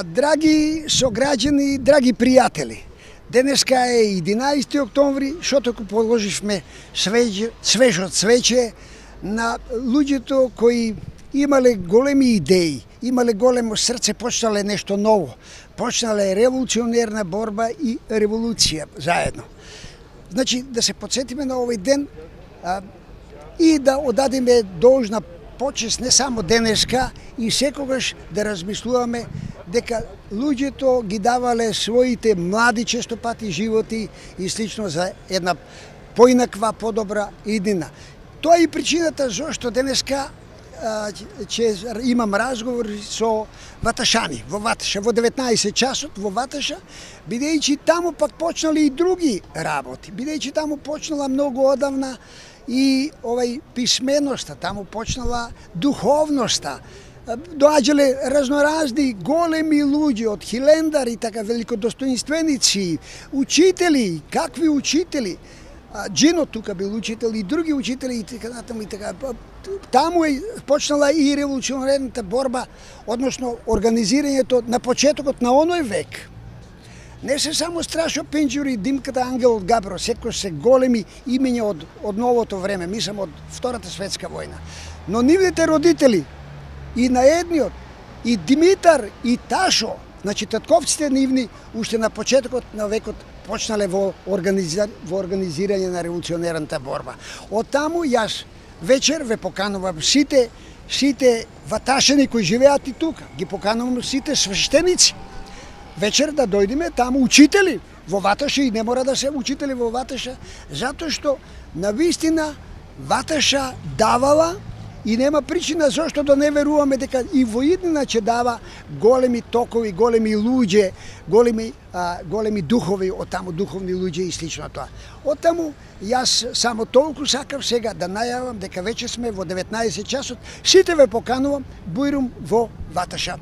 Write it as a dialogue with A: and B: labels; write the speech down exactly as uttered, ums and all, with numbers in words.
A: Драги сограѓани, драги пријатели, денеска е единаесети октомври, што току положивме свеже, свежо цвеќе на луѓето кои имале големи идеи, имале големо срце, почнале нешто ново, почнале револуционерна борба и револуција заедно. Значи, да се подсетиме на овој ден а, и да одадеме должна почест не само денеска и секогаш да размислуваме дека луѓето ги давале своите млади често пати животи и слично за една поинаква, подобра иднина. Тоа е и причината зашто денеска а, че имам разговор со ваташани во Ваташа во деветнаесет часот во Ваташа, бидејќи таму пак почнали и други работи, бидејќи таму почнала многу одавна и овај писменоста, таму почнала духовноста. Доаѓале разноразни големи луѓе од хилендари, така великодостоинственици, учители, какви учители. Джино тука бил учител и други учители и така натаму и така. Таму е почнала и револуционерната борба, односно организирањето на почетокот на оној век. Не се само Страшо Пенџур и Димката Ангел од Габро, секој се големи имења од, од новото време, мислам од Втората светска војна. Но нивните родители, и на едниот, и Димитар, и Ташо, значи татковците нивни, уште на почетокот на векот почнале во, организир... во организирање на револуционерната борба. Од таму јас вечер ве поканувам сите, сите ваташани кои живеат и тука, ги поканувам сите свештеници. Вечер да дојдеме таму учители во Ваташа и не мора да се учители во Ваташа, затоа што навистина Ваташа давала и нема причина зашто да не веруваме дека и во иднина ќе дава големи токови, големи луѓе, големи, а, големи духови од таму, духовни луѓе и слично тоа. Од таму јас само толку сакав сега да најавам дека веќе сме во деветнаесет часот, сите ве поканувам, бујрум во Ваташа.